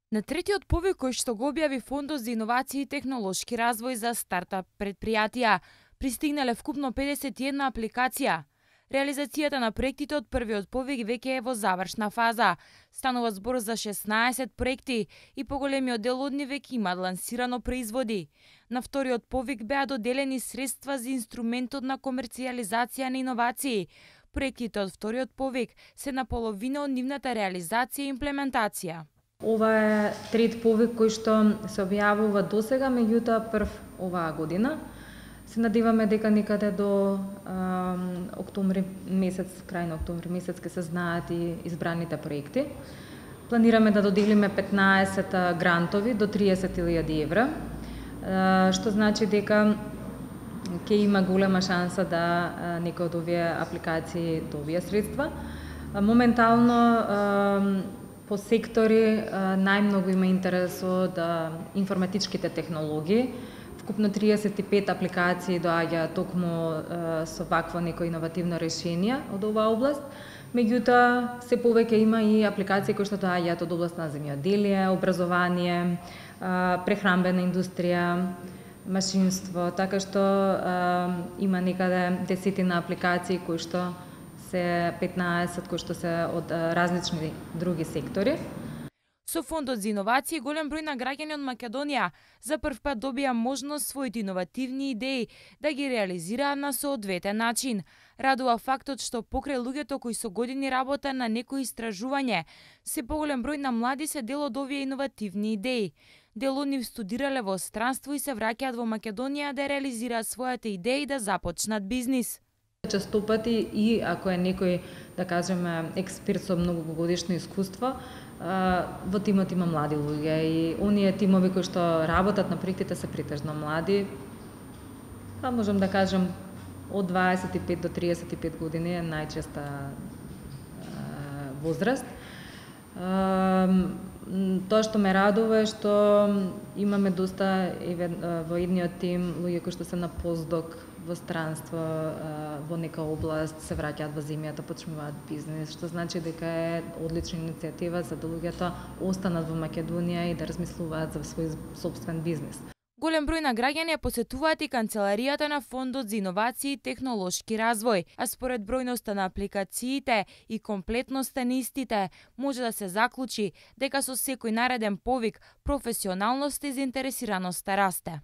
На третиот повик кој што го објави Фондот за иновации и технолошки развој за стартап предпријатија, пристигнале вкупно 51 апликација. Реализацијата на проектите од првиот повик веќе е во завршна фаза. Станува збор за 16 проекти и поголемиот дел од нив веќе имаат лансирано производи. На вториот повик беа доделени средства за инструментот на комерцијализација на иновации. Проектите од вториот повик се на половина од нивната реализација и имплементација. Ова е трет повик кој што се објавува досега, меѓутоа прв оваа година. Се надеваме дека некаде до октомври месец, крај на октомври месец ќе се знаат и избраните проекти. Планираме да доделиме 15 грантови до 30.000 евра, што значи дека ќе има голема шанса да некој од овие апликации добие средства. Моментално по сектори најмногу има интерес од информатичките технологии. Вкупно 35 апликации доаѓа токму со вакво некој иновативно решение од оваа област. Меѓутоа, се повеќе има и апликации кои што доаѓаат од област на земјоделие, образование, прехранбена индустрија, машинство, така што има некаде десетина апликации кои што се 15 кои што се од различни други сектори. Со Фондот за иновации голем број на граѓани од Македонија за прв пат добија можност своите иновативни идеи да ги реализираат на соодветен начин. Радува фактот што покрај луѓето кои со години работа на некои истражување, се поголем број на млади се дел од овие иновативни идеи. Дел од нив студирале во странство и се враќаат во Македонија да реализираат своите идеи да започнат бизнис. Честопати и ако е некој, да кажеме, експерт со многогодишно искуство, во тимот има млади луѓе и оние тимови кои што работат на проектите се претежно млади. Па можам да кажем од 25 до 35 години е најчеста возраст. Тоа што ме радува е што имаме доста во едниот тим луѓе кои што се на постдок во странство, во нека област, се враќаат во земјата, почнуваат бизнес, што значи дека е одлична иницијатива за да луѓето останат во Македонија и да размислуваат за свој сопствен бизнес. Голем број на граѓани ја посетуваат и канцеларијата на Фондот за иновации и технолошки развој, а според бројноста на апликациите и комплетноста на истите, може да се заклучи дека со секој нареден повик професионалноста и заинтересираноста расте.